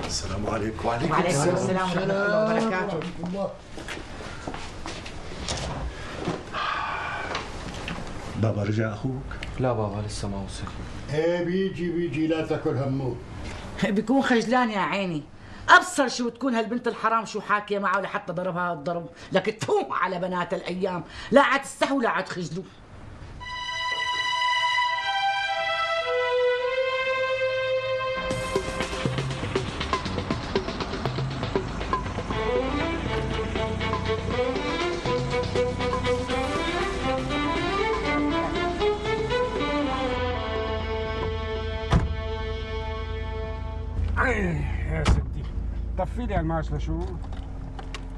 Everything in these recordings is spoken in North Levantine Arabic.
السلام عليكم. وعليكم السلام ورحمة الله وبركاته. بابا رجع أخوك؟ لا بابا لسه ما وصل. ايه بيجي لا تاكل همه. بيكون خجلان يا عيني. ابصر شو تكون هالبنت الحرام شو حاكيه معه لحتى ضربها الضرب، لكن تفوق على بنات الايام، لا عاد تستحوا لا عاد تخجلوا. يا ستي طفي لي الماش لشو؟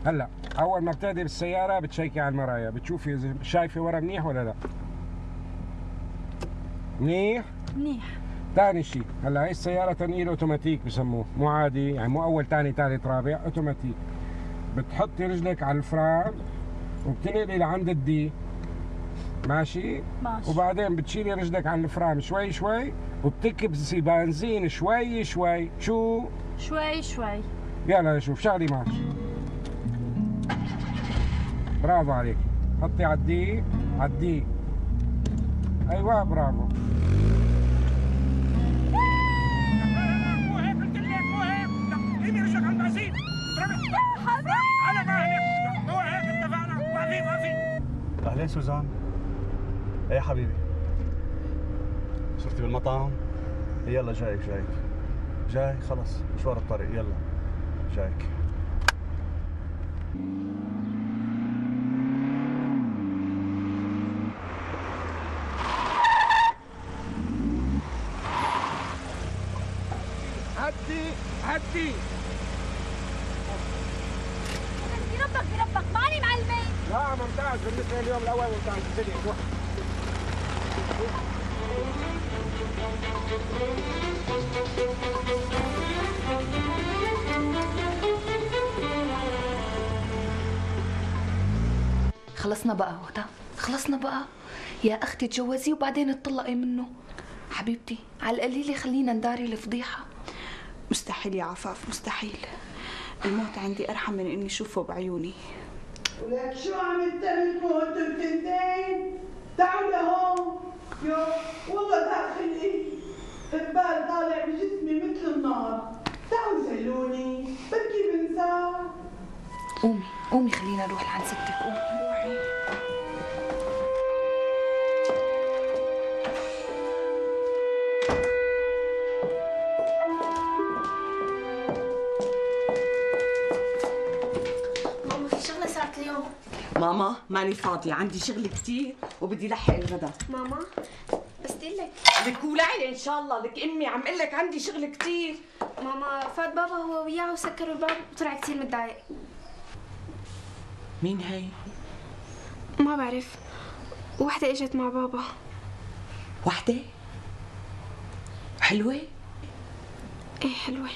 هلا اول ما بتهدي بالسياره بتشيكي على المرايا، بتشوفي اذا شايفه ورا منيح ولا لا. منيح؟ منيح. ثاني شيء، هلا هي السياره تنقيل اوتوماتيك بسموه، مو عادي يعني مو اول ثاني ثالث رابع، اوتوماتيك. بتحطي رجلك على الفرامل وبتنقلي لعند الدي، ماشي؟ ماشي. وبعدين بتشيلي رجلك عن الفرامل شوي شوي وبتكبسي بنزين شوي شوي. شو؟ شوي شوي. يلا نشوف، شغلي ماشي. برافو عليك. حطي عدي عدي. ايوه برافو. مو هيك قلت لك، مو هيك. لا ايدي رجلك على البنزين. على مهلك. مو هيك اتفقنا. وقفي. أهلين سوزان. إيه يا حبيبي، صرتي بالمطعم؟ يلا جايك جاي خلص مشوار الطريق. يلا جايك. هدي بربك ماني معلمين. لا ممتاز بالنسبه لليوم الاول، ممتاز. انزلي روح. خلصنا بقى هدى، خلصنا بقى يا اختي. تجوزي وبعدين تطلقي منه. حبيبتي على القليله خلينا نداري الفضيحه. مستحيل يا عفاف، مستحيل. الموت عندي ارحم من اني اشوفه بعيوني. ولك شو عم تعملوا انتم التنتين؟ تعالوا لهون. يو والله داخلي قبال طالع بجسمي مثل النار. تعالوا زلوني بركي بنسى. قومي خلينا نروح لعند ستك. قومي روحي. ماما في شغلة صارت اليوم. ماما ماني فاضية، عندي شغل كتير وبدي لحق الغدا. ماما بس دلك لك ولعي ان شاء الله. لك امي عم قل لك عندي شغل كتير. ماما فات بابا هو وياه وسكروا الباب وطلع كتير متضايق. مين هي؟ ما بعرف، وحدة اجت مع بابا. وحدة؟ حلوة؟ ايه حلوة.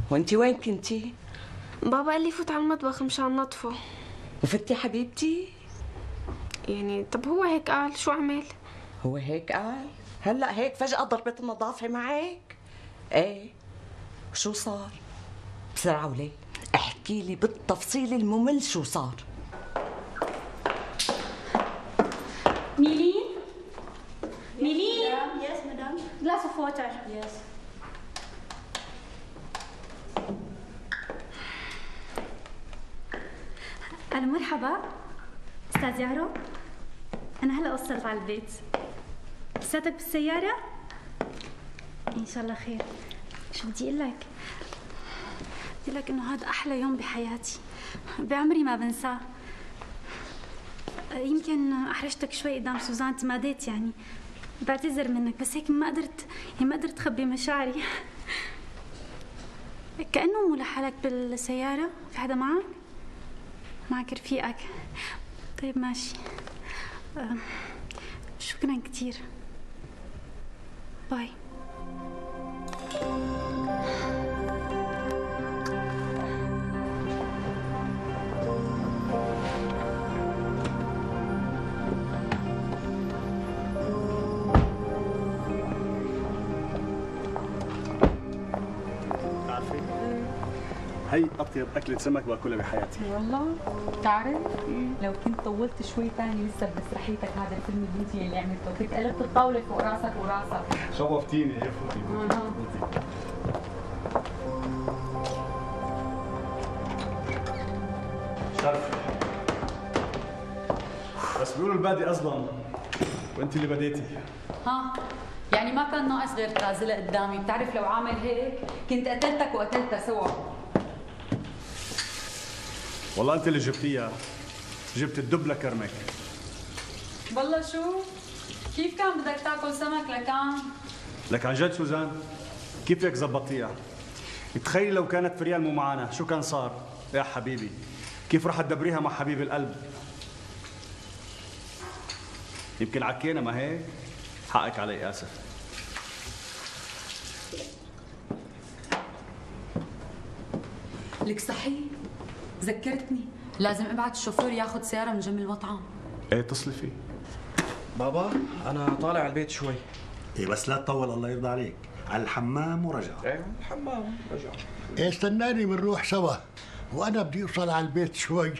وانتي وين كنتي؟ بابا قال لي فوت على المطبخ مشان نطفه. وفتي حبيبتي؟ يعني طب هو هيك قال، شو عمل؟ هو هيك قال؟ هلا هيك فجأة ضربت النظافة معك؟ ايه شو صار؟ بسرعة وليه احكي لي بالتفصيل الممل شو صار. ميلين؟ ميلين؟ Yes, madam. Glass of water. Yes. ألو مرحبا أستاذ يارو، أنا هلا وصلت على البيت. لساتك بالسيارة؟ إن شاء الله خير. شو بدي أقول لك؟ بدي لك إنه هذا أحلى يوم بحياتي، بعمري ما بنساه. يمكن أحرجتك شوي قدام سوزان، تماديت يعني، بعتذر منك، بس هيك ما قدرت أخبي مشاعري. كأنه مو لحالك بالسيارة، في حدا معك؟ معك رفيقك؟ طيب ماشي. شكرا كتير. باي. هي اطيب اكله سمك باكلها بحياتي. والله بتعرف لو كنت طولت شوي ثاني لسه بمسرحيتك هذا الفيلم الهندي اللي عملته كنت قلبت الطاوله فوق راسك وراسك. شوفتيني. ايه فوتي. شرف. بس بيقولوا البادي اظلم وانت اللي بديتي. ها يعني ما كان ناقص غير تنازلها قدامي. بتعرف لو عامل هيك كنت قتلتك وقتلتها سوا. والله انت اللي جبتيها. جبت الدب لكرمك. والله شو؟ كيف كان بدك تاكل سمك لكان؟ لك عن جد سوزان كيف هيك زبطيها؟ تخيل لو كانت فريال مو معنا شو كان صار؟ يا حبيبي كيف رح تدبريها مع حبيب القلب؟ يمكن عكينا ما هيك؟ حقك علي اسف. لك صحيح ذكرتني لازم ابعت الشوفير ياخذ سياره من جنب المطعم. ايه اتصلي فيه. بابا انا طالع على البيت شوي. ايه بس لا تطول الله يرضى عليك. على الحمام ورجع. ايه الحمام رجع. إيه استناني بنروح سوا، وانا بدي اوصل على البيت شوي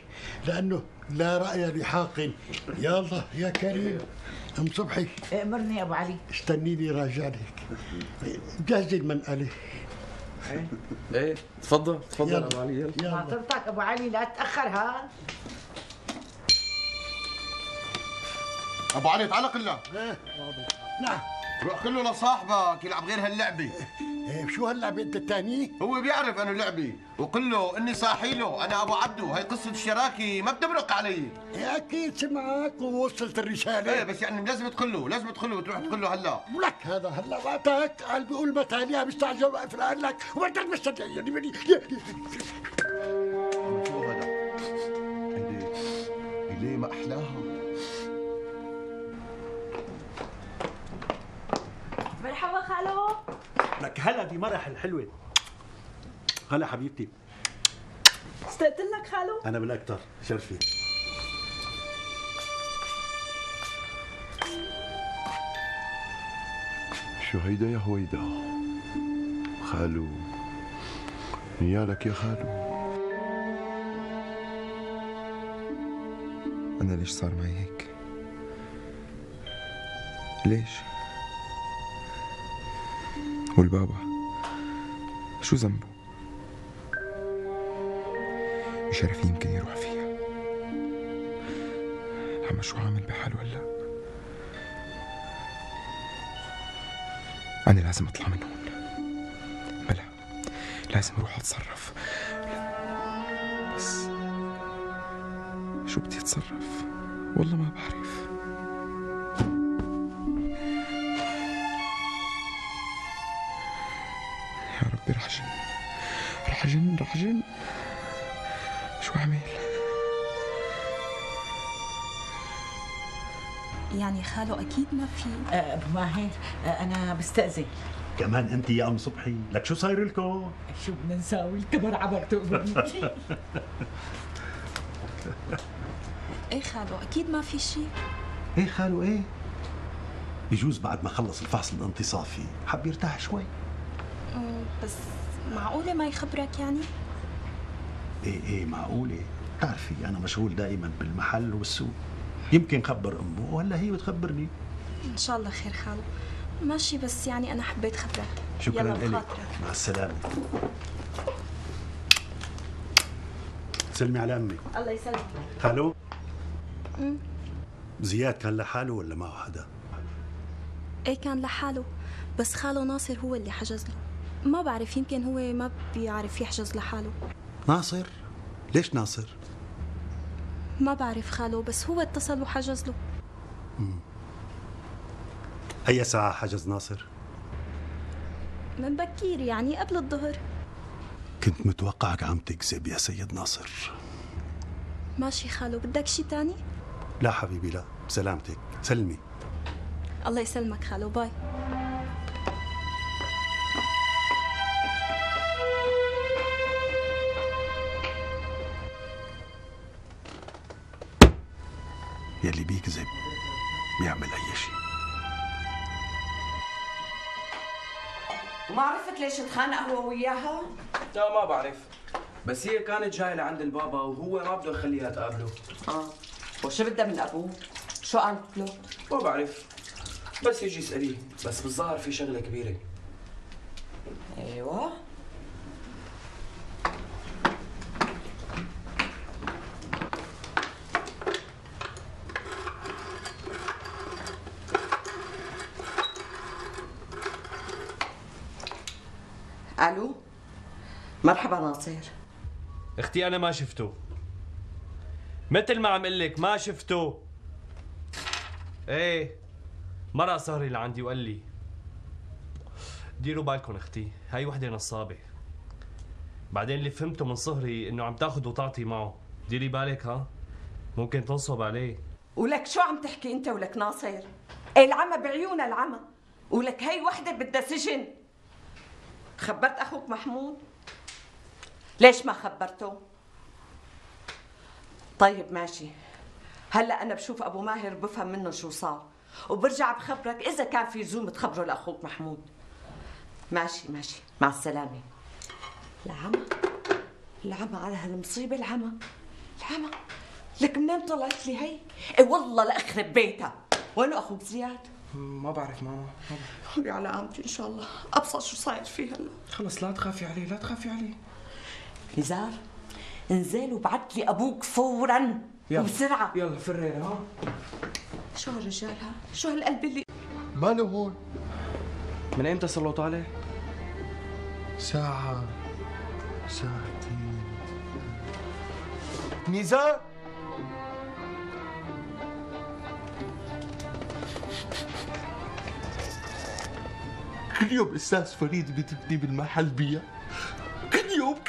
لانه لا راي لحاق. يلا يا كريم. ام صبحي امرني يا ابو علي. استنيني راجعلك. جهزي المنقله. ايه تفضل تفضل ابو علي يلا معطرتك ابو علي لا تاخر. ها ابو علي تعال قلنا. نعم روح كله لصاحبك يلعب غير هاللعبه. إيه شو هاللعبه انت الثاني؟ هو بيعرف انه لعبي وقل له اني صاحي له انا ابو عبدو. هي قصه الشراكه ما بتمرق علي. إيه اكيد سمعك ووصلت الرساله. ايه بس يعني لازم تقول له وتروح تقول له هلا. ولك هذا هلا وقتك قال بيقول متى عليها مستعجل واقف لك وبدك مستعجل يعني بدي شو هذا؟ ليه ما احلاها؟ مرحبا خالو. لك هلا بمرح الحلوه. هلا حبيبتي. اشتقت لك خالو. انا بالاكثر شرفي. شو هيدا يا هويدا؟ خالو نيالك يا خالو. أنا ليش صار معي هيك؟ ليش؟ والبابا شو ذنبه؟ شرفي يمكن يروح فيها. العم شو عامل بحاله هلا؟ أنا لازم أطلع من هون. بلا لازم أروح أتصرف. بس شو بدي أتصرف؟ والله ما بعرف. يا ربي رح جن شو أعمل؟ يعني خالو اكيد ما في. ابو ماهر انا بستأذن. كمان انت يا ام صبحي لك شو صاير لكم؟ شو بدنا نساوي؟ الكبر عبك تقبرني. ايه خالو اكيد ما في شيء. ايه خالو ايه بجوز بعد ما خلص الفحص الانتصافي حب يرتاح شوي. بس معقولة ما يخبرك يعني؟ ايه معقولة. بتعرفي انا مشغول دائما بالمحل والسوق. يمكن خبر امه ولا هي بتخبرني. ان شاء الله خير خالو. ماشي بس يعني انا حبيت خبرك. شكرا يلا لك. بخاطرك. مع السلامة. سلمي على امي. الله يسلمك. خالو زياد كان لحاله ولا معه حدا؟ ايه كان لحاله بس خاله ناصر هو اللي حجز له. ما بعرف يمكن هو ما بيعرف يحجز لحاله. ناصر؟ ليش ناصر؟ ما بعرف خاله بس هو اتصل وحجز له. أي ساعة حجز ناصر؟ من بكير يعني قبل الظهر. كنت متوقعك عم تكذب يا سيد ناصر. ماشي خاله بدك شي تاني؟ لا حبيبي لا سلامتك. سلمي. الله يسلمك خاله. باي. يلي بيكذب بيعمل أي شيء. وما عرفت ليش تخانق هو وياها؟ لا ما بعرف. بس هي كانت جايه لعند البابا وهو ما بده يخليها تقابله. وشو بدها من ابوه؟ شو قالت له؟ ما بعرف، بس يجي يسأليه، بس بالظاهر في شغله كبيره. ايوه. الو، مرحبا ناصر. اختي انا ما شفته، مثل ما عم قلك ما شفته. ايه مرق صهري لعندي وقال لي ديروا بالكم اختي، هاي وحده نصابه. بعدين اللي فهمته من صهري انه عم تاخذ وتعطي معه، ديري بالك ها، ممكن تنصب عليه. ولك شو عم تحكي انت ولك ناصر؟ العمى بعيونها العمى، ولك هي وحده بدها سجن. خبرت اخوك محمود؟ ليش ما خبرته؟ طيب ماشي، هلا انا بشوف ابو ماهر بفهم منه شو صار، وبرجع بخبرك اذا كان في لزوم تخبره لاخوك محمود. ماشي ماشي، مع السلامه. العمى على هالمصيبه، العمى لك منين طلعت لي هي؟ اي والله لاخرب بيتها. وينو اخوك زياد؟ ما بعرف ماما، ما بعرف. على عامتي ان شاء الله، ابصر شو صاير فيه هلا. خلص لا تخافي عليه، لا تخافي عليه. نزار انزل وبعت لي ابوك فورا وبسرعه. يلا فرينا. ها شو هالرجال ها؟ شو هالقلب اللي ماله هون؟ من ايمتى صار له طالع؟ ساعة ساعتين. نزار كل يوم استاذ فريد بتبني بالمحل بيع، كل يوم.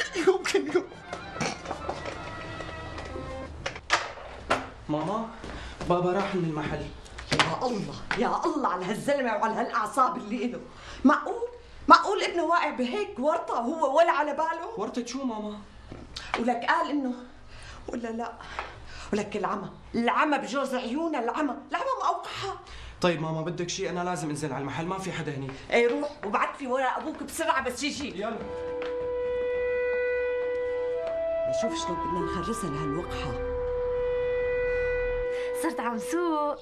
ماما بابا راح من المحل. يا الله على هالزلمه وعلى هالاعصاب اللي له. معقول ابنه واقع بهيك ورطه وهو ولا على باله؟ ورطه شو ماما؟ ولك قال انه ولا لا، ولك العمى بجوز عيونها، العمى موقعها. طيب ماما بدك شيء؟ انا لازم انزل على المحل، ما في حدا هني. اي روح وبعت لي ورا ابوك بسرعه بس يجي. يلا نشوف شلون بدنا نخرسها لهالوقحه. صرت عم سوق.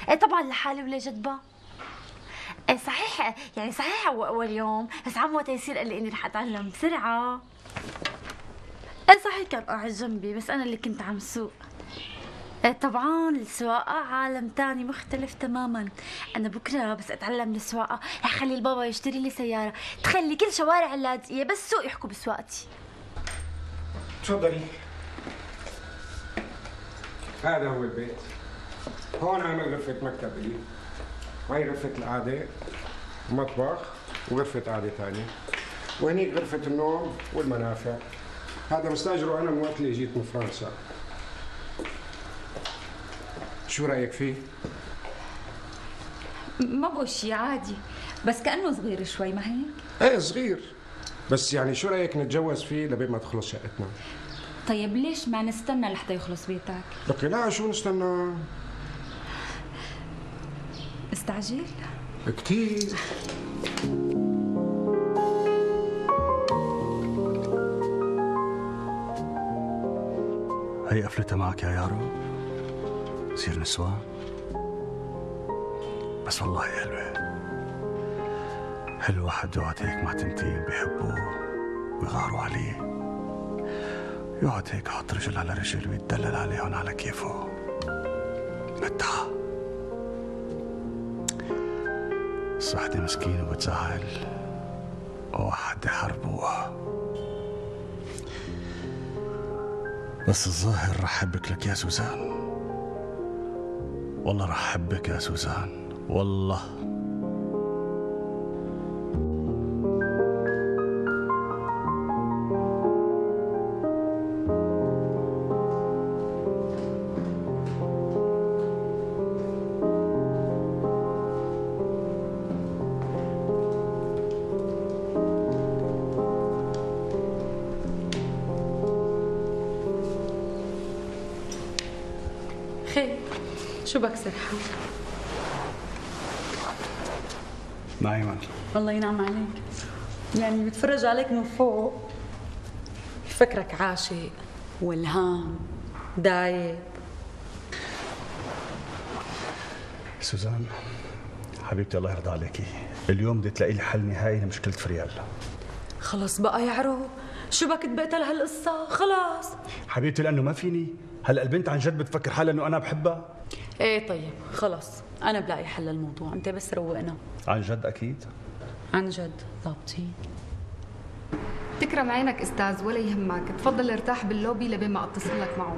ايه طبعا لحالي ولا جدبه. ايه صحيح، يعني صحيح اول يوم، بس عمو تيسير قال لي اني رح اتعلم بسرعه. ايه صحيح كان قاعد جنبي، بس انا اللي كنت عم سوق. ايه طبعا السواقه عالم تاني مختلف تماما. انا بكره بس اتعلم السواقه رح خلي البابا يشتري لي سياره تخلي كل شوارع اللاذقيه بس سوق يحكوا بسواقتي. تفضلي. هذا هو البيت. هون عامل غرفة مكتب لي، هاي غرفة القعدة ومطبخ وغرفة قعدة ثانية، وهنيك غرفة النوم والمنافع. هذا مستاجره أنا من وقت اللي جيت من فرنسا. شو رأيك فيه؟ ما بقول شي، عادي، بس كأنه صغير شوي، ما هيك؟ ايه صغير، بس يعني شو رأيك نتجوز فيه لبين ما تخلص شقتنا؟ طيب ليش ما نستنى لحتى يخلص بيتك؟ لك لا، شو نستنى؟ استعجل؟ كتير. هي قفلتها معك يا يارو؟ نصير نسوان؟ بس والله حلوة. حلو واحد يقعد هيك مع تنتين بيحبوه ويغاروا عليه، يقعد هيك يحط رجل على رجل ويتدلل عليهم على كيفه. متعة. بس وحدة مسكينة وبتزعل وواحد يحاربوها. بس الظاهر رح حبك لك يا سوزان، والله رح حبك يا سوزان، والله. خير، شو بكسر حالي؟ نايمة. الله ينعم عليك، يعني بتفرج عليك من فوق. فكرك عاشق والهام دايب. سوزان حبيبتي الله يرضى عليكي، اليوم بدي تلاقي لي حل نهائي لمشكلة فريال. خلص بقى يا عرو، شو بك تبقت لهالقصة؟ خلاص حبيبتي لأنه ما فيني، هلا البنت عن جد بتفكر حالها إنه أنا بحبها. ايه طيب خلص، أنا بلاقي حل للموضوع، أنت بس روقنا. عن جد أكيد؟ عن جد ضابطين. تكرم عينك استاذ ولا يهمك، تفضل ارتاح باللوبي لبين ما اتصل لك معه.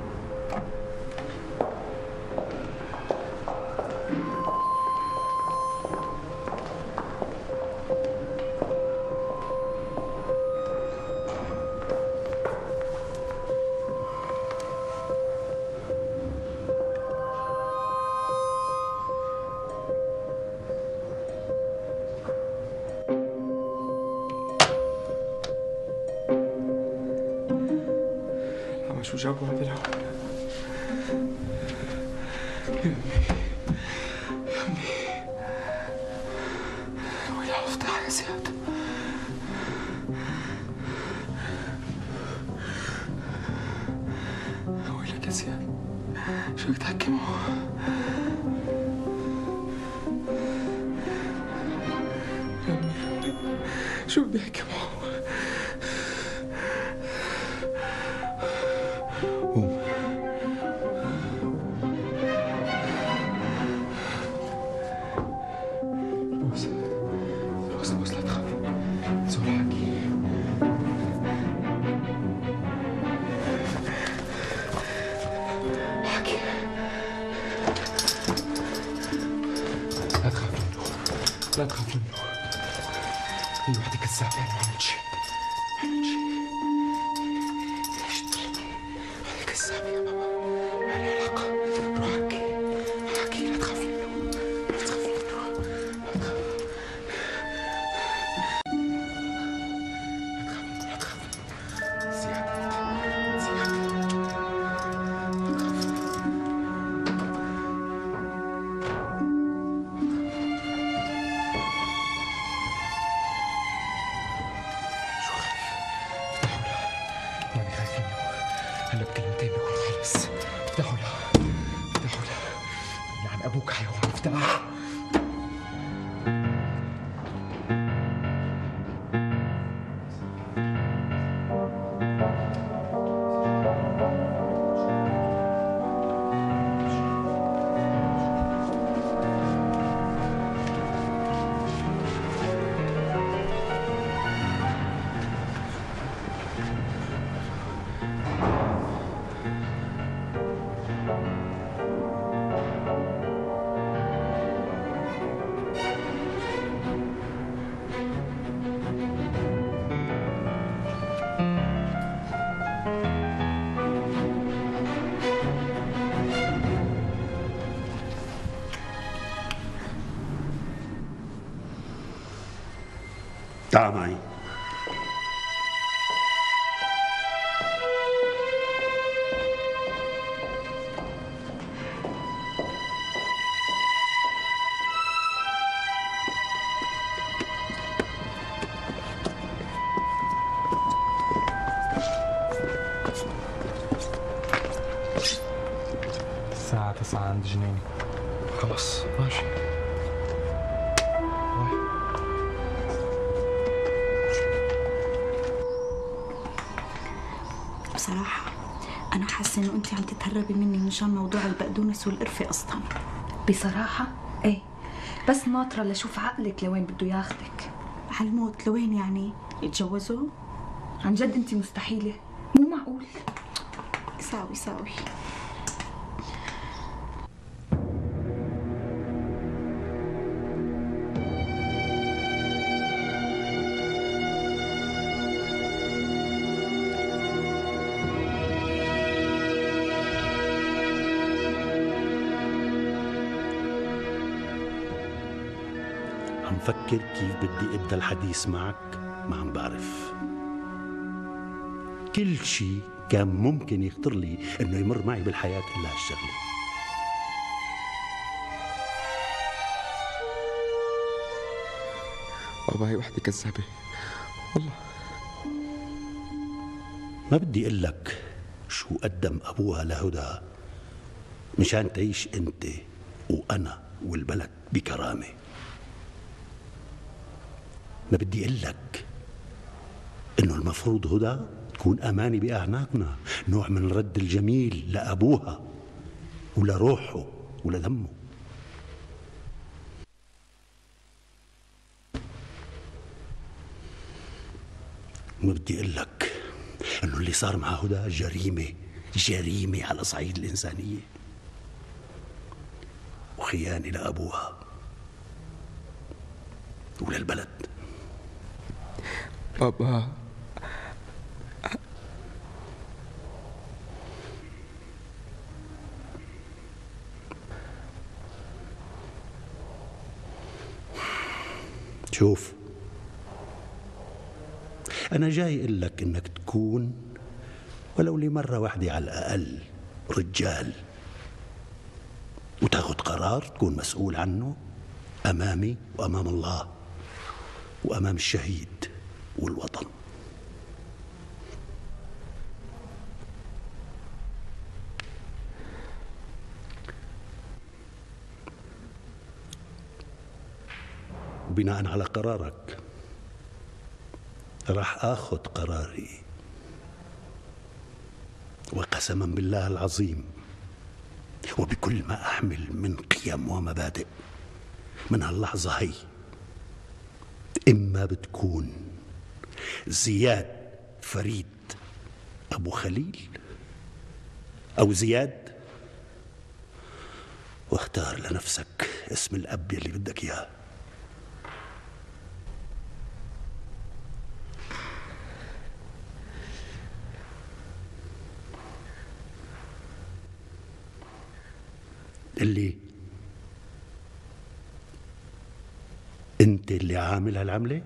شو جابوا هذا الهون؟ يا أمي ويلا افتح يا زياد. ويلك يا زياد، شو بدك تحكي معه؟ يا أمي شو بدي أحكي معه؟ بوس لا تخاف، زول حكي. حكي لا تخاف منه، لا تخاف منه. هي وحدة كذابة، أنا ما عملت شيء، ما عملت شيء. ليش تظلمني؟ وحدة كذابة يا بابا، ما لها علاقة. روح حكي، حكي لا تخاف منه، لا تخاف منه. هلا بكلمتين بكون خلص. افتحوا لها، افتحوا لها. لعن ابوك حيوان، افتح. تعال معي. الساعة 9 عند جنيني. خلص ماشي. بصراحة أنا حاسة إنه أنت عم تتهربي مني مشان موضوع البقدونس والقرفة أصلا. بصراحة إيه، بس ناطرة لشوف عقلك لوين بده ياخدك. على الموت لوين يعني؟ يتجوزوا؟ عن جد أنت مستحيلة، مو معقول. ساوي عم فكر كيف بدي ابدا الحديث معك، ما عم بعرف. كل شيء كان ممكن يخطر لي انه يمر معي بالحياة الا هالشغله. بابا هي وحدة كذابة والله. ما بدي اقول لك شو قدم ابوها لهدى مشان تعيش انت وانا والبلد بكرامه. ما بدي اقول لك انه المفروض هدى تكون امانه باعناقنا، نوع من رد الجميل لابوها ولروحه ولدمه. ما بدي اقول لك انه اللي صار مع هدى جريمه على صعيد الانسانيه وخيانه لابوها وللبلد. بابا شوف، أنا جاي أقول لك إنك تكون ولو لمرة واحدة على الأقل رجال وتاخذ قرار تكون مسؤول عنه أمامي وأمام الله وأمام الشهيد والوطن. وبناء على قرارك راح آخذ قراري، وقسما بالله العظيم وبكل ما أحمل من قيم ومبادئ، من هاللحظة هي إما بتكون زياد فريد أبو خليل أو زياد، واختار لنفسك اسم الأب اللي بدك إياه. اللي انت اللي عامل هالعمله؟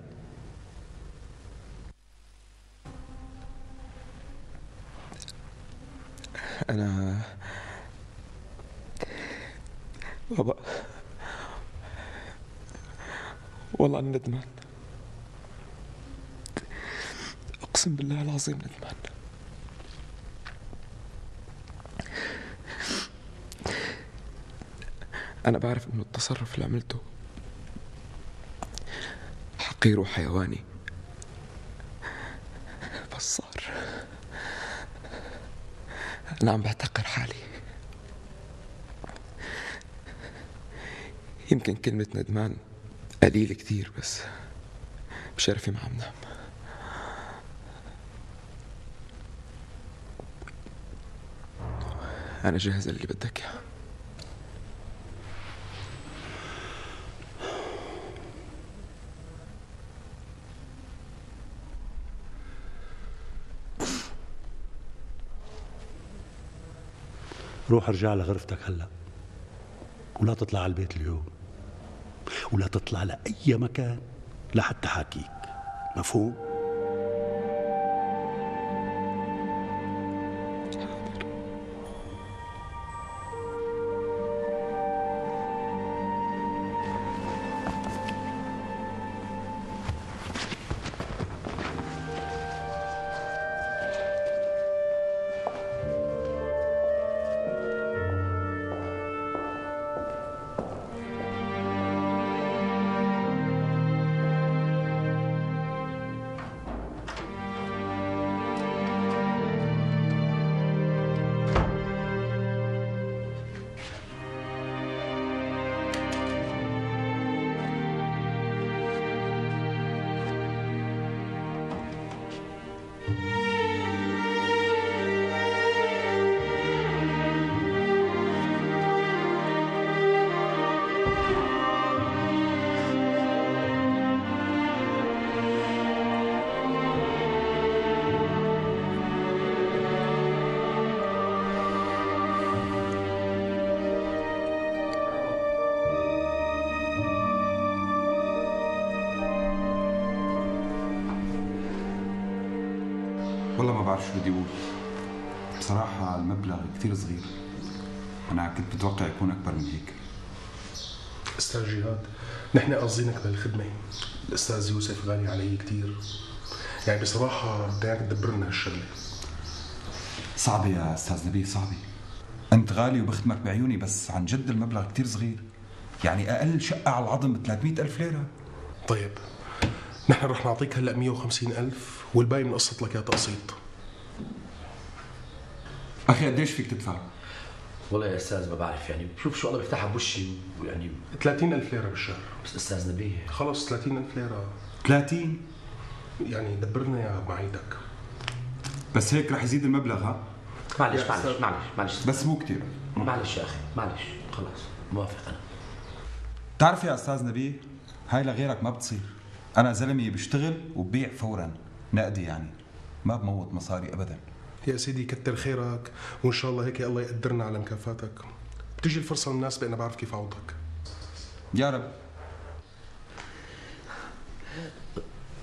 انا بابا والله انا ندمان، اقسم بالله العظيم ندمان. أنا بعرف إنه التصرف اللي عملته حقير وحيواني، بس صار. أنا عم بعتقر حالي. يمكن كلمة ندمان قليل كتير، بس بشرفي ما عم نام. أنا جاهز اللي بدك إياه. روح ارجع لغرفتك هلا، ولا تطلع على البيت اليوم، ولا تطلع لأي مكان لحتى حاكيك، مفهوم؟ والله ما بعرف شو بدي اقول. بصراحة المبلغ كثير صغير، أنا كنت متوقع يكون أكبر من هيك. أستاذ جهاد، نحن قاصدينك بالخدمة. الأستاذ يوسف غالي علي كثير، يعني بصراحة بدي إياك تدبر لنا هالشغلة. صعبة يا أستاذ نبيه، صعبة. أنت غالي وبختمك بعيوني، بس عن جد المبلغ كتير صغير. يعني أقل شقة على العظم ب 300,000 ليرة. طيب نحن رح نعطيك هلا 150,000 والباقي بنقسط لك يا تقسيط. أخي قديش فيك تدفع؟ والله يا أستاذ ما بعرف، يعني شوف شو الله بيفتحها بوشي، ويعني 30,000 ليرة بالشهر. بس أستاذ نبيه خلص 30,000 ليرة. 30؟ يعني دبرنا يا معيدك. بس هيك رح يزيد المبلغ. ها؟ معلش بس مو كتير. معلش يا أخي، معلش خلاص موافق أنا. بتعرف يا أستاذ نبيه، هاي لغيرك ما بتصير. أنا زلمي بشتغل وببيع فورا، نقدي يعني، ما بموت مصاري أبدا. يا سيدي كتر خيرك، وإن شاء الله هيك الله يقدرنا على مكافاتك. بتيجي الفرصة المناسبة أنا بعرف كيف أعوضك. يا رب.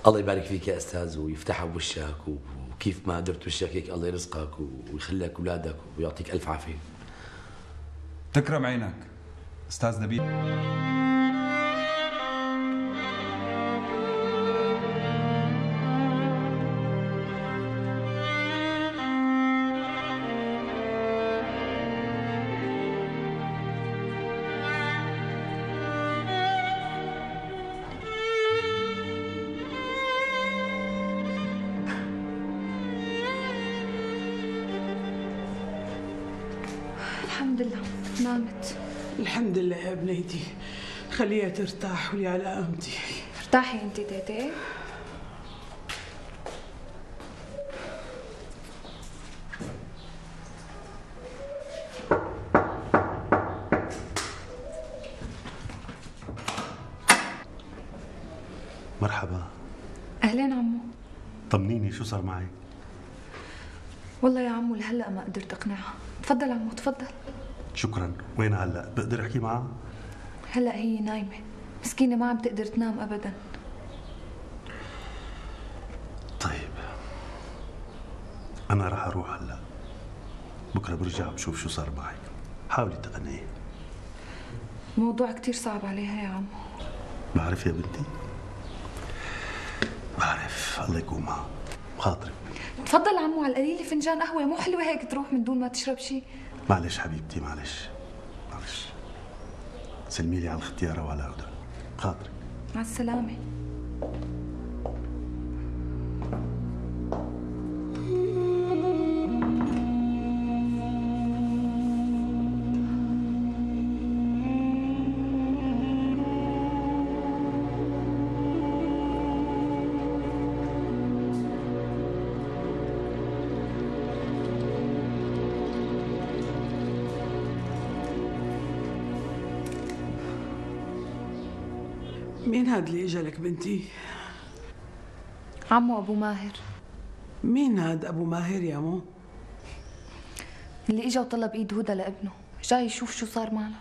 الله يبارك فيك يا أستاذ ويفتحها بوشك، وكيف ما قدرت وشك هيك الله يرزقك ويخلي لك أولادك ويعطيك ألف عافية. تكرم عينك أستاذ نبيه. الحمد لله نامت. الحمد لله يا بنيتي، خليها ترتاح ولي على قامتي. ارتاحي انت تيتي. مرحبا. اهلين عمو. طمنيني شو صار معك؟ والله يا عمو لهلا ما قدرت اقنعها. تفضل عمو تفضل. شكرا. وين هلا؟ بقدر احكي معها؟ هلا هي نايمه، مسكينه ما عم تقدر تنام ابدا. طيب انا رح اروح هلا، بكره برجع بشوف شو صار معك. حاولي تقنعي. موضوع كتير صعب عليها يا عمو. بعرف يا بنتي، بعرف. الله يكون معها. بخاطرك. تفضل عمو، على القليله فنجان قهوه، مو حلوه هيك تروح من دون ما تشرب شيء. معلش حبيبتي، معلش. سلمي لي على الختياره وعلى هدى. بخاطرك. مع السلامه. مين هاد اللي اجا لك بنتي؟ عمو ابو ماهر. مين هاد ابو ماهر يا مو؟ اللي اجا وطلب ايد هدى لابنه، جاي يشوف شو صار معنا.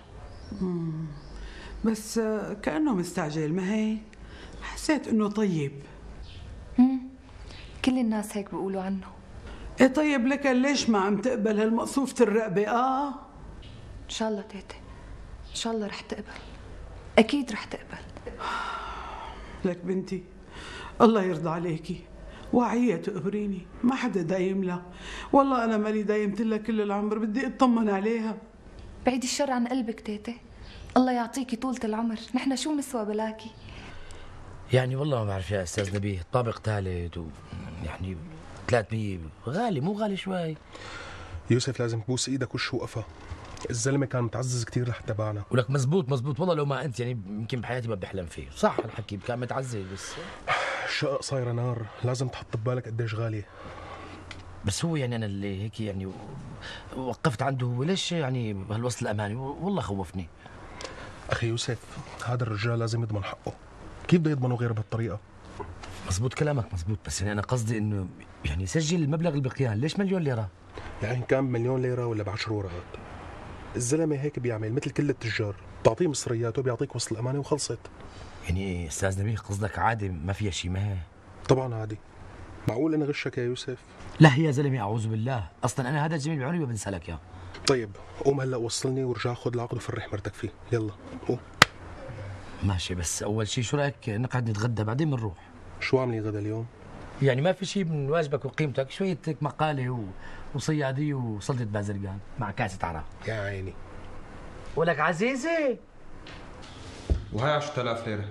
بس كأنه مستعجل، ما هيك؟ حسيت انه طيب. كل الناس هيك بيقولوا عنه. ايه طيب، لك ليش ما عم تقبل هالمقصوفة الرقبة؟ ان شاء الله تيتي، ان شاء الله رح تقبل، اكيد رح تقبل. لك بنتي الله يرضى عليكي، وعية تقبريني، ما حدا دايم لها. والله أنا مالي دايمت لها كل العمر، بدي أطمن عليها. بعيد الشر عن قلبك تيتي، الله يعطيكي طولة العمر، نحن شو نسوى بلاكي. يعني والله ما بعرف يا أستاذ نبيه، طابق ثالث يعني 300 غالي، مو غالي شوي. يوسف لازم تبوس ايدك وش وقفها، الزلمه كان متعزز كثير لحتى باعنا. ولك مزبوط والله، لو ما انت يعني يمكن بحياتي ما بحلم فيه. صح الحكي، كان متعزز بس الشقق صايره نار، لازم تحط ببالك قديش غاليه. بس هو يعني انا اللي هيك يعني وقفت عنده، هو ليش يعني بهالوصل الاماني، والله خوفني. اخي يوسف، هذا الرجال لازم يضمن حقه، كيف بده يضمنه غير بهالطريقه؟ مزبوط كلامك مزبوط، بس يعني انا قصدي انه يعني سجل المبلغ اللي بقيان، ليش مليون ليره؟ يعني كان بمليون ليره ولا ب10 ورقات، الزلمه هيك بيعمل مثل كل التجار، بتعطيه مصرياته بيعطيك وصل الامانه وخلصت. يعني استاذ نبيه قصدك عادي ما فيها شيء؟ ما هي طبعا عادي. معقول انا غشك يا يوسف؟ لا يا زلمه اعوذ بالله، اصلا انا هذا الجميل بعمري ما بنسى لك اياه. طيب قوم هلا وصلني ورجع خذ العقد وفرح مرتك فيه، يلا قوم. ماشي، بس اول شيء شو رايك نقعد نتغدى بعدين بنروح؟ شو عاملي غدا اليوم؟ يعني ما في شيء من واجبك وقيمتك، شويه مقاله وصياديه وسلطة باذرقان مع كاسة عرق. يا عيني. ولك عزيزي. وهي 10000 ليرة.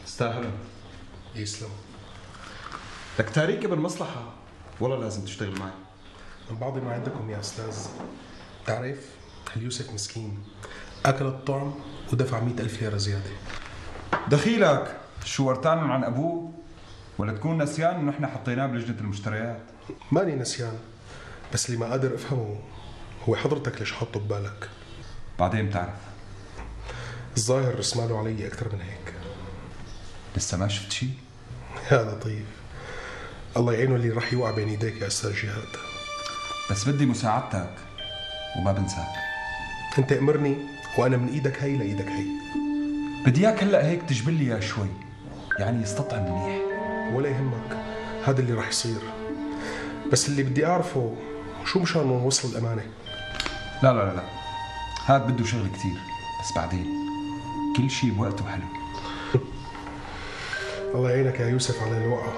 استاهلهم. يسلم. لك تاريكي بالمصلحة والله لازم تشتغل معي. من بعض ما عندكم يا أستاذ. تعرف اليوسف مسكين أكل الطعم ودفع 100,000 ليرة زيادة. دخيلك شو ورتان عن أبوه؟ ولا تكون نسيان إنه إحنا حطيناه بلجنة المشتريات؟ ماني نسيان، بس اللي ما قادر أفهمه هو حضرتك ليش حاطه ببالك؟ بعدين بتعرف. الظاهر رسماله علي أكثر من هيك. لسه ما شفت شيء؟ يا لطيف، الله يعينه اللي راح يوقع بين ايديك يا أستاذ جهاد. بس بدي مساعدتك وما بنساك. أنت أمرني وأنا من إيدك هي لإيدك هي. بدي إياك هلأ هيك تجبل لي إياه شوي، يعني يستطعم منيح. ولا يهمك، هذا اللي راح يصير. بس اللي بدي أعرفه شو مشان نوصل الأمانة؟ لا لا لا لا، هاد بده شغل كتير، بس بعدين كل شيء بوقته حلو. الله يعينك يا يوسف على الوقعة.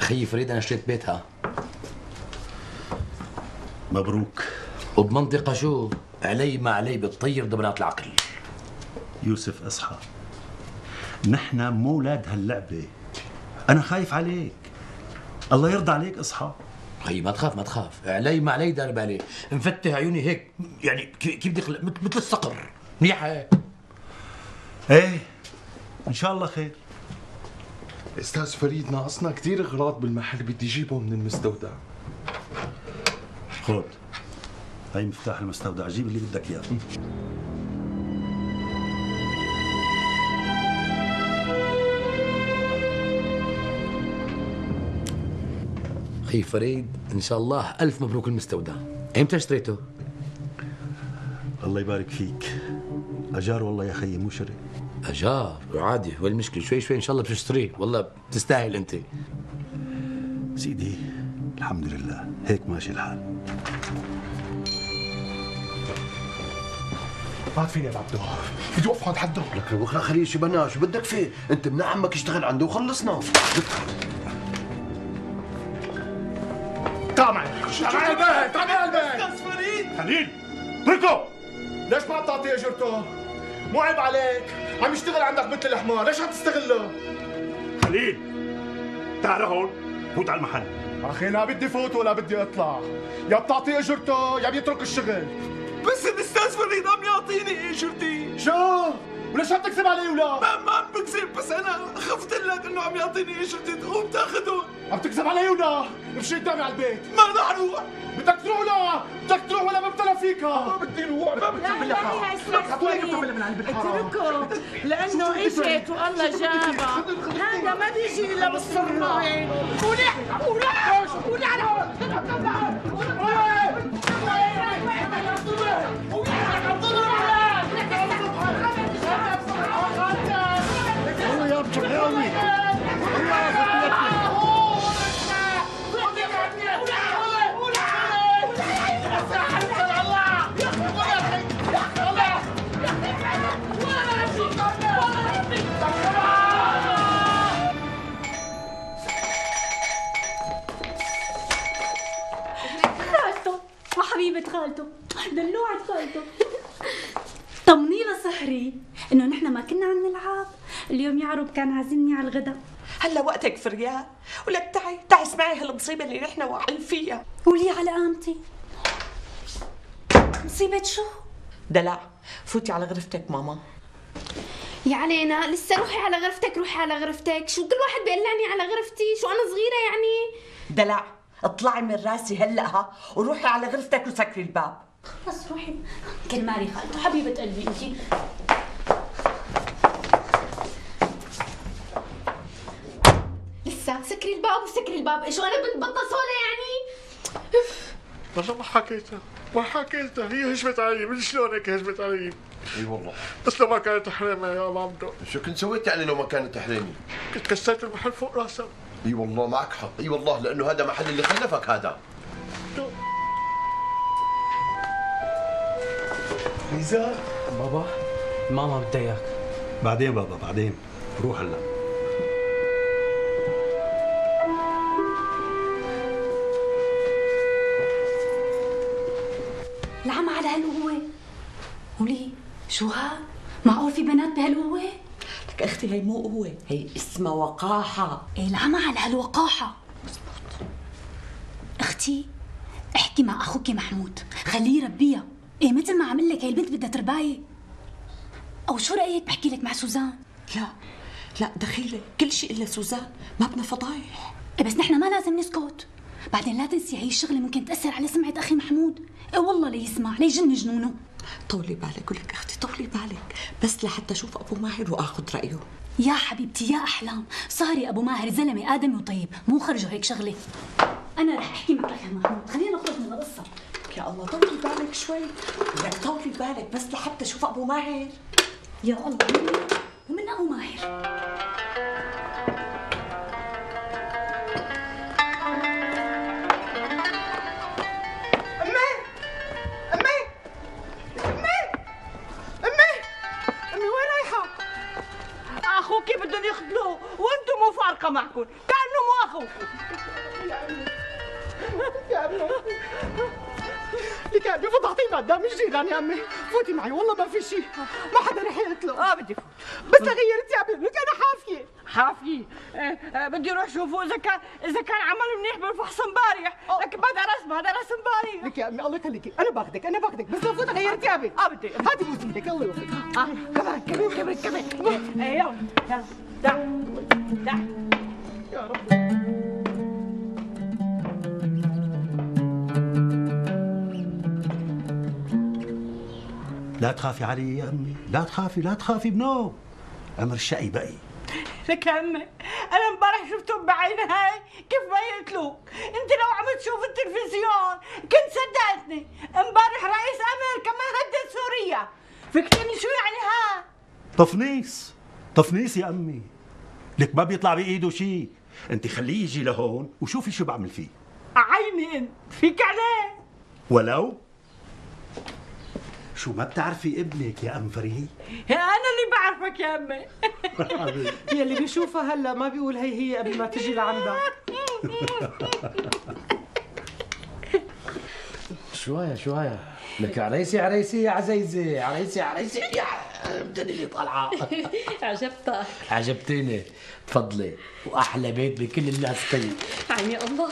خيي فريد أنا اشتريت بيتها. مبروك. وبمنطقة شو؟ علي ما علي بتطير دبرات العقل. يوسف اصحى، نحن مو ولاد هاللعبة. أنا خايف عليك، الله يرضى عليك اصحى. خيي ما تخاف ما تخاف، علي ما علي دار بالي، مفتح عيوني هيك يعني كيف بدي مثل الصقر، منيحة هيك. ايه ان شاء الله خير. استاذ فريد ناقصنا كثير اغراض بالمحل، بدي اجيبهم من المستودع. خذ هاي مفتاح المستودع، جيب اللي بدك اياه. خي فريد ان شاء الله الف مبروك المستودع. امتى اشتريته؟ الله يبارك فيك. اجار والله يا خيي مو شري. اجار عادي، وين المشكله؟ شوي شوي ان شاء الله بتشتريه، والله بتستاهل انت. سيدي الحمد لله هيك ماشي الحال. ما فيني يا عبدو، بدي اوقف عند حده. لك بكره خليه شو بنا، شو بدك فيه؟ انت ابن عمك اشتغل عنده وخلصنا. تعال معي، تعال معي البيت، تعال معي البيت. استاذ فريد خليل اتركه. ليش ما بتعطيه اجرته؟ مو عيب عليك، عم يشتغل عندك مثل الحمار، ليش عم تستغله؟ خليل تعال هون، فوت على المحل. اخي لا بدي فوت ولا بدي اطلع، يا بتعطيه اجرته يا بيترك الشغل. بس الاستاذ فريد عم يعطيني اجرتي. شو؟ وليش عم تكذب علي ولا؟ ما عم بكذب، بس انا خفت لك انه عم يعطيني اجرتي تقوم تاخذهم. عم تكذب علي ولا؟ امشي قدامي على البيت. ما رح اروح. بدك تروح ولا؟ بدك تروح ولا ببتلى فيك؟ ما بدي اروح، ما بدي لا لا يا استاذ اتركه لانه اجت والله جابها، هذا ما بيجي الا بالصراحه. ولح ولح ولح هو يا بتحاوي خالته وحبيبة خالته دلوعة خالته. طمني له سحري انه نحن ما كنا عم نلعب، اليوم يا عروب كان عازمني على الغداء. هلا وقتك فريال، ولك تعي اسمعي هالمصيبة اللي نحن واقعين فيها. قولي على قامتي. مصيبة شو؟ دلع فوتي على غرفتك ماما. يا علينا لسه روحي على غرفتك، روحي على غرفتك، شو كل واحد بيقلعني على غرفتي؟ شو انا صغيرة يعني؟ دلع اطلعي من راسي هلا وروحي على غرفتك وسكري الباب. بس روحي. كرمالي خالته حبيبة قلبي انتي. لسه سكري الباب وسكري الباب، شو انا بنت بطة سودا يعني؟ والله ما حكيتها هي هجمت علي، من شلون هيك هجمت علي؟ اي والله. بس لو ما كانت حريمه يا ابو عبدو. شو كنت سويت يعني لو ما كانت حريمي؟ كنت كسرت المحل فوق راسها. اي والله معك حق، اي والله لانه هذا محل اللي خلفك هذا. ميزان بابا ماما بدها اياك. بعدين بابا بعدين، روح هلا. هو؟ وليه؟ شو هاد؟ معقول في بنات بهالقوة؟ لك اختي هي مو قوة، هي اسمها وقاحة. ايه العمى على هالوقاحة. اختي احكي مع اخوك محمود، خليه يربيها. ايه مثل ما عم لك هي البنت بدها ترباية. او شو رأيك بحكي لك مع سوزان؟ لا دخيلة، كل شيء الا سوزان، ما بدنا فضايح. ايه بس نحن ما لازم نسكت. بعدين لا تنسي هي الشغلة ممكن تأثر على سمعة اخي محمود. ايه والله ليسمع ليجن جنونه. طولي بالك ولك اختي، طولي بالك، بس لحتى اشوف ابو ماهر واخذ رايه. يا حبيبتي يا احلام، صاري ابو ماهر زلمه ادمي وطيب، مو خرجوا هيك شغله. انا رح احكي مع اخي محمود، خلينا نخرج من القصه. يا الله طولي بالك شوي، لك طولي بالك بس لحتى اشوف ابو ماهر. يا الله ومن ابو ماهر. اخوكي بدهم يخدلوه وانتم مو فارقه معكم، كانه مو اخوكم. لك يا امي فضحتينا قدام الجيران يا امي، فوتي معي والله ما في شيء، ما حدا رح يقتله. بدي فوت بس لغير ثيابي، لك انا حافيه. حافيه؟ بدي اروح شوفه اذا كان عمل منيح بالفحص امبارح، لكن ما درس امبارح. لك يا امي الله يخليكي، انا باخذك بس لفوت اغير ثيابي. بدي هاتي بوس ايدك الله يوفقك. كمان يلا تعال يا رب. لا تخافي علي يا أمي، لا تخافي بنو. أمر الشقي بقي. لك يا أمي، أنا امبارح شفتهم بعيني هاي كيف ما يقتلوك، أنت لو عم تشوف التلفزيون كنت صدقتني، امبارح رئيس أمريكا ما هدد سوريا، فيك تقولي شو يعني ها؟ تفنيس يا أمي. لك ما بيطلع بإيده شيء، أنت خليه يجي لهون وشوفي شو بعمل فيه. عيني أنت، فيك عليه؟ ولو شو ما بتعرفي ابنك يا أم فريد؟ أنا اللي بعرفك يا أمي. هي اللي بيشوفها هلا ما بيقول هي قبل ما تجي لعندها. شوية لك عريسي يا عزيزي، عريسي يا بدني اللي طالعة. عجبتك. عجبتيني، تفضلي، وأحلى بيت بكل الناس طيب. عيني الله،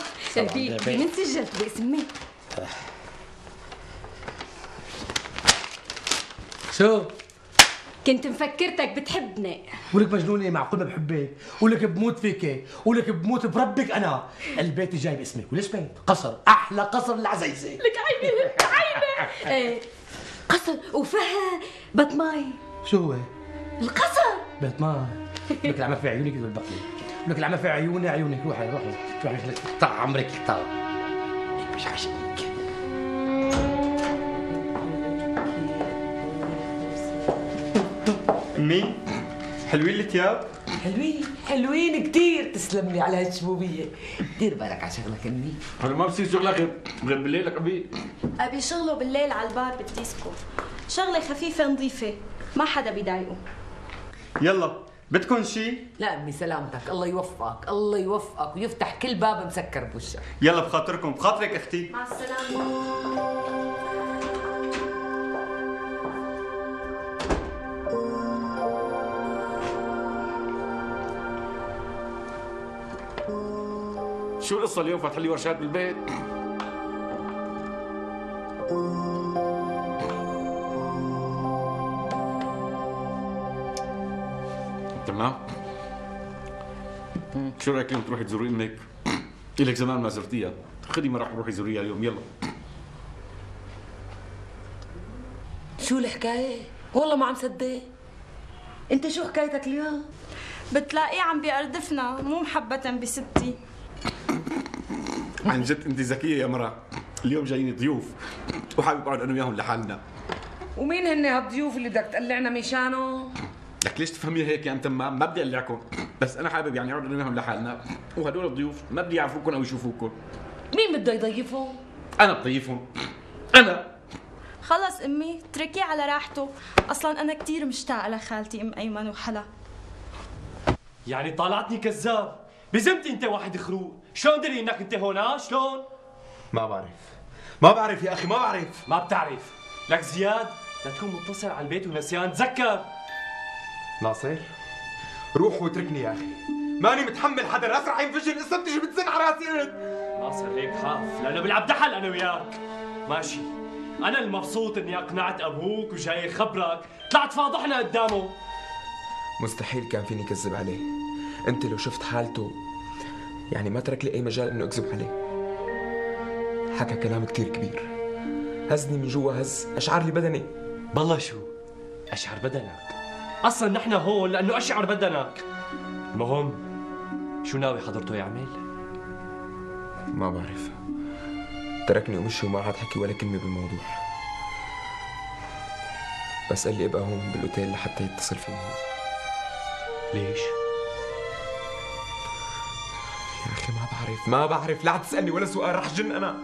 من سجلت باسمي. شو؟ كنت مفكرتك بتحبني. ولك مجنونة، معقول ما بحبك؟ ولك بموت فيك، ولك بموت بربك أنا. البيت جاي باسمك، وليش بيت؟ قصر، أحلى قصر للعزيزة. لك عيني ايه قصر وفيها بيت ماي. شو هو؟ القصر بيت ماي. لك العمى في عيونك بالبقلة، لك العمى في عيونك، روحي قطع عمرك قطع. مش عشانك. أمي حلوين الثياب؟ حلوين كثير، تسلم لي على هالشبوبية. دير بالك على شغلك أمي. أنا ما بصير شغلك غير بالليل لك أبي شغله بالليل على البار بالديسكو، شغلة خفيفة نظيفة، ما حدا بيضايقه. يلا بدكم شيء؟ لا أمي سلامتك، الله يوفقك ويفتح كل باب مسكر بوشك. يلا بخاطرك أختي. مع السلامة. شو القصة اليوم فاتح لي ورشات بالبيت؟ تمام؟ شو رأيك اليوم تروحي تزوري أمك؟ إلك زمان ما زرتيها، خذي ما راح روحي زوريها اليوم يلا. شو الحكاية؟ والله ما عم صدق. أنت شو حكايتك اليوم؟ بتلاقيه عم بيقردفنا مو محبة بستي. عن جد انت ذكيه يا مرة، اليوم جايين ضيوف وحابب اقعد انا وياهم لحالنا. ومين هن هالضيوف اللي بدك تقلعنا مشانه؟ لك ليش تفهميها هيك يا ام تمام؟ ما بدي اقلعكم، بس انا حابب يعني اقعد انا وياهم لحالنا، وهدول الضيوف ما بدي يعرفوكم او يشوفوكم. مين بده يضيفهم؟ انا بضيفهم. انا خلص امي اتركيه على راحته، اصلا انا كثير مشتاقه لخالتي ام ايمن وحلا. يعني طالعتني كذاب، بزمتي انت واحد خروق، شلون دري انك انت هون؟ شلون؟ ما بعرف يا اخي، ما بعرف. ما بتعرف، لك زياد لا تكون متصل على البيت ونسيان، تذكر. ناصر روح واتركني يا اخي، ماني متحمل حدا، راس رح ينفجر القصه بتيجي بتزن على راسي انت. ناصر هيك خاف لانه بلعب دحل انا وياك. ماشي، انا المبسوط اني اقنعت ابوك وجاي خبرك، طلعت فاضحنا قدامه. مستحيل كان فيني كذب عليه، انت لو شفت حالته يعني ما ترك لي اي مجال انه اكذب عليه. حكى كلام كتير كبير، هزني من جوا، هز اشعر لي بدني. بالله شو اشعر بدنك؟ اصلا نحن هون لانه اشعر بدنك. المهم شو ناوي حضرته يعمل؟ ما بعرف، تركني ومشي وما عاد حكي ولا كلمه بالموضوع. بس قال لي ابقى هون بالاوتيل لحتى يتصل فيني هو. ليش؟ يا اخي ما بعرف لا تسالني ولا سؤال، رح جن انا.